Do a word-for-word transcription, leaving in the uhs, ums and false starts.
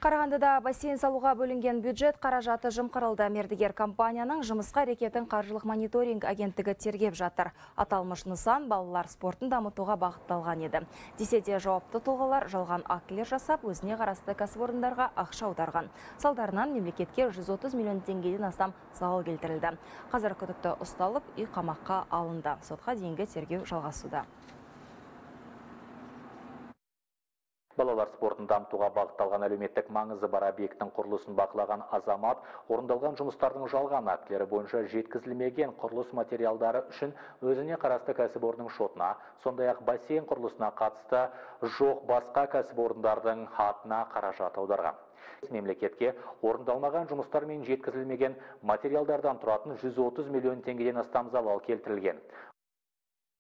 Қарағандыда бассейн салуға бөлінген бюджет қаражаты жымқырылды. Мердігер компанияның жұмысқа әрекетін қаржылық мониторинг агенттігі тергеп жатыр. Аталмыш нысан балалар спортын дамытуға бағытталған еді. Десе де жауапты тұлғалар жалған актілер жасап, өзіне қарасты кәсіпорындарға ақша аударған. Салдарынан мемлекетке жүз отыз миллион теңгеден астам залал келтірілді. Қазір күдікті ұсталып, үй қамаққа алынды. Сотқа дейінгі тергеу жалғасуда. Балалар спортын дамытуға бағытталған әлеуметтік маңызы бар объекттің құрылысын бақылаған азамат орындалған жұмыстардың жалған актілері бойынша жеткізілмеген құрылыс материалдары үшін өзіне қарасты кәсіпорынның шотына, сондай-ақ бассейн құрылысына қатысты жоқ басқа кәсіпорындардың атына қаражат аударған. Мемлекетке орындалмаған жұмыстар мен жеткізілмеген материалдардан тұратын жүз отыз миллион теңгеден астам залал келтірілген.